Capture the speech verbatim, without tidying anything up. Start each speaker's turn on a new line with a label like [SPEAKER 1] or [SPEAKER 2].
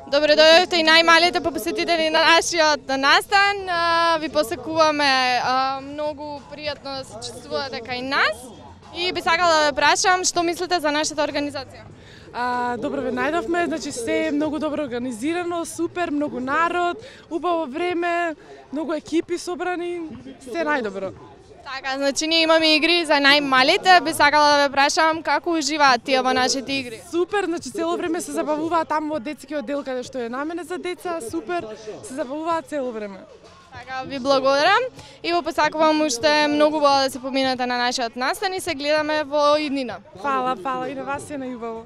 [SPEAKER 1] Добре дојдовте и најмалите посетители на нашиот настан. Ви посекуваме многу пријатно да се чувствувате кај нас. И би сакала да ве прашам што мислите за нашата организација?
[SPEAKER 2] А, добро ве најдовме, значи се е многу добро организирано, супер, многу народ, убаво време, многу екипи собрани, се најдобро.
[SPEAKER 1] Така, значи ние имаме игри за најмалите, би сакала да ве прашам како уживаат тие во нашите игри?
[SPEAKER 2] Супер, значи цело време се забавуваат таму во детскиот дел каде што е наменет за деца, супер, се забавуваат цело време.
[SPEAKER 1] Така, ви благодарам и во посакувам уште многу убаво да се поминете на нашиот настан и се гледаме во иднина.
[SPEAKER 2] Фала, фала и на вас е најубаво.